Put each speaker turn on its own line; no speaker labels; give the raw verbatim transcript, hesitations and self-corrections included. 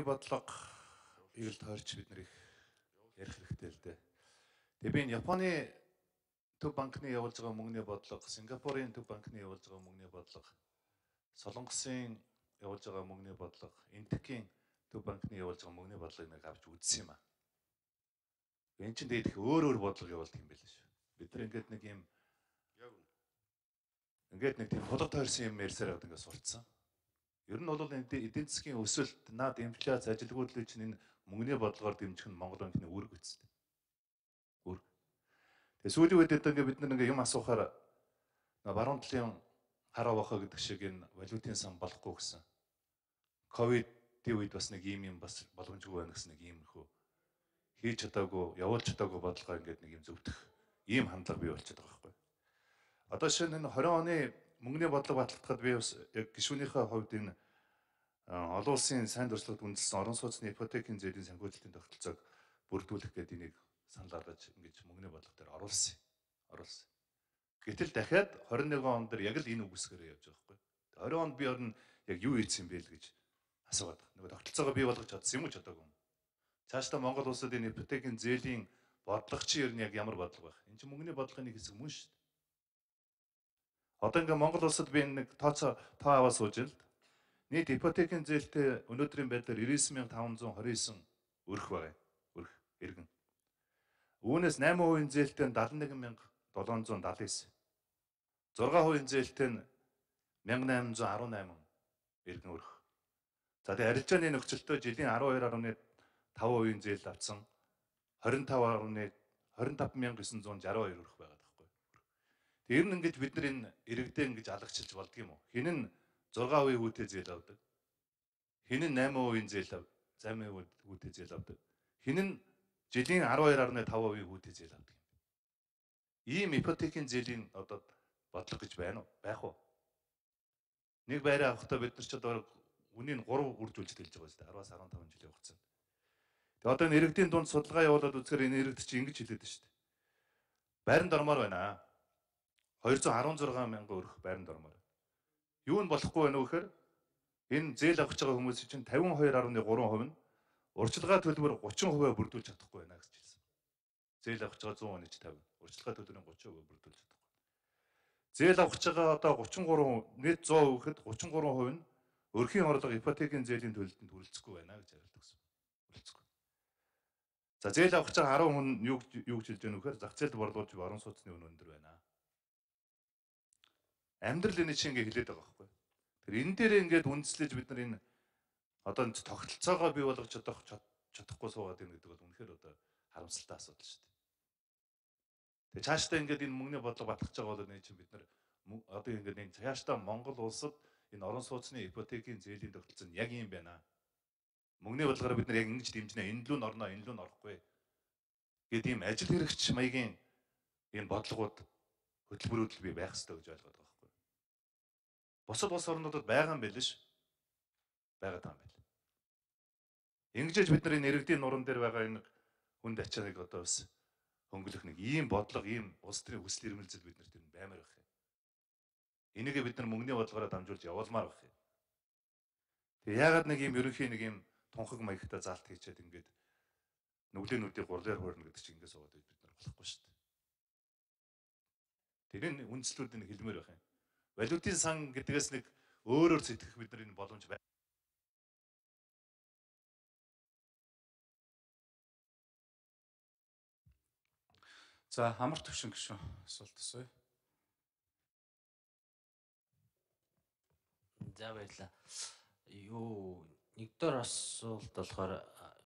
бодлого ийг л тойрч бид нарыг ярих хэрэгтэй л дээ. Тэгээ би энэ Японы төв банкны явуулж байгаа мөнгөний бодлого, Сингапурын төв банкны явуулж байгаа мөнгөний бодлого, Солонгосын явуулж байгаа мөнгөний бодлого, Энтекийн төв банкны явуулж байгаа мөнгөний бодлогыг нэг авч үзсэн юм аа. Энэ чинь тэгээд их өөр өөр бодлого явуулдаг юм байл шүү. Бид нар ингээд нэг юм ингээд нэг тийм хулгай тойрсон юм ярьсаар байгаа ингээд сурцсан. Ер нь бол эдийн засгийн өсөлт, наад инфляц, ажилгүйдлийг чинь энэ мөнгөний бодлогоор дэмжих нь Монгол банкны үүрэг үсттэй. Үүрэг. Тэгээ сүүлийн үед ингээд бид нар ингээд юм асуухаар баруун талын хараа бахаа гэдэг шиг энэ валютын сан болохгүй гэсэн. Ковидын үед бас нэг ийм юм бас боломжгүй байна гэсэн нэг иймэрхүү хийж чадаагүй, явуулж чадаагүй бодлогоо ингээд нэг юм зөвтөх ийм хандлага бий болчиход байгаа байхгүй. Одоо шинэ энэ двадцать оны мөнгөний бодлого батлагдахад би бас яг гишүүнийхээ хувьд энэ олон улсын сайн дурсгалд үндэслэн орон сууцны ипотекийн зээлийн санхүүжилтийн тогтолцоог бүрдүүлэх гэдэг энийг санал гаргаж ингэж мөнгөний бодлого дээр оруулсан. Оруулсан. Гэтэл дахиад двадцать нэгэн он дээр яг л энэ үгсгээрээ явж байгаа байхгүй. двадцать онд би орно яг юу ийдсэн бэ л гэж асууад байгаа. Нөгөө тогтолцоогоо бий болгож чадсан юм уу чадаагүй юм. Цаашдаа Монгол улсад энэ ипотекийн зээлийн бодлого чи ер нь яг ямар бодлого байх? Энэ чинь мөнгөний бодлогын нэг хэсэг мөн шүү дээ. Одоо ингээ Монгол улсад би нэг тооцоо тоо аваад сууж л нийт ипотекийн зээлтэй өнөөдрийн байдлаар девяносто девять мянга таван зуун двадцать девять өрх байгаа. Өрх иргэн. Үүнээс восемь процент зээлтэй нь семьдесят один мянга долоон зуун далайн девять. зурга процент зээлтэй нь мянга найман зуун арван найман иргэн өрх. За тэгээ арилжааны нөхцөлтөө жилийн арван хоёр гаруй таван процент зээл авсан двадцать пять двадцать пять мянга девятьсот шестьдесят два өрх байгаа даахгүй. Тэр нь ингэж бид нар энэ иргэдээ ингэж алагчилж болдго юм уу? Хин нь зурга процент хүүтэй зээл авдаг. Хин нь восемь процент зээл замын хүүтэй зээл авдаг. Хин нь жилийн арван хоёр гаруй таван процент хүүтэй зээл авдаг юм. Ийм ипотекийн зээлийн одоо бодлого гэж байна уу? Байх уу? Нэг байраа авахдаа бид нар ч одоо үнийг гурав үржүүлж хэлж байгаа шүү дээ. араваас арван таван жилийн хугацаанд. Тэгээ одоо энэ иргэдийн дунд судалгаа явуулаад үзэхээр энэ иргэд чинь ингэж хэлээд байна шүү дээ. Байранд ормоор байна. двести шестнадцать мянган өрх байранд ормоор. Юу нь болохгүй байна вэ гэхээр энэ зээл авах байгаа хүмүүс чинь пятьдесят two point three percent нь урьдчилгаа төлбөр thirty percent бүрдүүлж чадахгүй байна гэж хэлсэн. Зээл авах байгаа one hundred оны fifty, урьдчилгаа төлбөрийн thirty percent бүрдүүлж чадахгүй. Зээл авах байгаа одоо thirty-three нийт one hundred гэхэд thirty-three percent нь өрхийн орлого ипотекийн зээлийн төлөлтөнд хүрэлцэхгүй байна гэж хариулдаг гэсэн. Хүрэлцэхгүй. За зээл авах байгаа ten хүн юу юу гэж хэлж байгаа нөхөр зах зээлд борлуулж орон сууцны үн өндөр байна. Амьдрал энэ чинь ингээ хэлээд байгаа байхгүй. Тэр энэ дээр ингээд үндэслэж бид нар энэ одоо тогтолцоогоо бий болгож чадах чадахгүй суугаад байна гэдэг бол үнэхээр одоо харамсалтай асуудал шүү дээ. Тэгээ цаашдаа ингээд энэ мөнгөний бодлого батгах байгаа бол энэ чинь бид нар одоо ингээд энэ цаашдаа Монгол улсад энэ орон сууцны ипотекийн зээлийн тогтолцоо нь яг юм байна. Мөнгөний бодлогоор бид нар яг ингэж дэмжинэ, энэ лүү н орно, энэ лүү н орохгүй гэдэг ийм ажил хэрэгч маягийн энэ бодлогууд хөтөлбөрүүд бий байх ёстой гэж ойлгоод байгаа байхгүй. Бусад улс орнуудад байгаа юм байл ш. Байгаад байгаа юм байл. Ингэж бид нар энэ иргэдийн нуран дээр байгаа энэ хүнд ачааг одоо бас хөнгөлөх нэг ийм бодлого, ийм улс төрийн хүсэл эрмэлзэл бид нарт энэ баймаар байх юм. Энийг бид нар мөнгөний бодлогоор дамжуулж явуулмаар байх юм. Тэгээ яагаад нэг ийм ерөнхий нэг ийм тунхаг маягтай заалт хийчихэд ингээд нүглээнүүдийг гурлаар хуурна гэдэг чинь ингээд суугаад бид нар болохгүй шүү дээ. Тэр энэ үндслүүд энэ хэлмээр байх юм. Валютын сан гэдгээс нэг өөрөөр сэтгэх бид нар энэ боломж байна.
За амар төвшин гişүн асуулт асууя.
За баярлаа. Юу нэгдүгээр асуулт болохоор